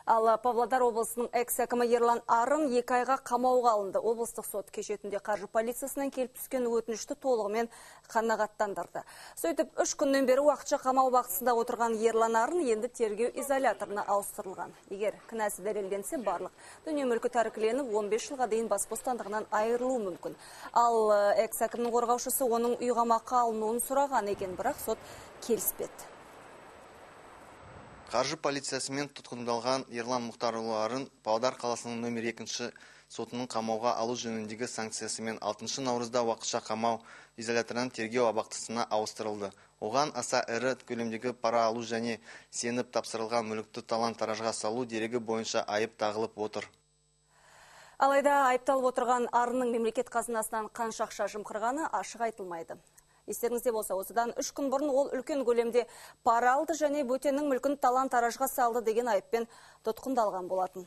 Ал Павлодар облысының экс-әкімі Ерлан Арын 2 айға қамауға алынды. Облыстық сот кешетінде қаржы полициясынан келіп түскен өтінішті толығымен қанағаттандырды. Сөйтіп 3 күннен бері уақытша қамау бақсында отырған Ерлан Арын енді тергеу изоляторына ауыстырылған. Егер кінәсі дәлелденсе, барлық дүние мүлкі тәркіленіп 15 жылға дейін бас бостандығынан айырылуы мүмкін. Ал экс-әкімнің қорғаушысы оның үй қамаққа алынуын сұраған екен, бірақ сот келіспеді. Қаржы полициясымен тұтқындалған Ерлан Мұхтарұлы Арын Павлодар қаласының номер 2 сотының қамауға алу жөніндегі санкциясымен 6 наурызда уақытша қамау изоляторынан тергеу абақтысына ауыстырылды. Оған аса ірі көлемдегі пара алу және сеніп тапсырылған мүлікті талан-таражға салу дерегі бойынша айып тағылып отыр. Алайда айыпталып отырған Арынның мемлекет қазынасынан қанша ақша жымқырғаны ашық айтылмайды. Естеріңізде болса, осыдан 3 күн бұрын ол үлкен көлемде пара алды және бөтеннің мүлкін талан-таражға салды деген айыппен тұтқындалған болатын.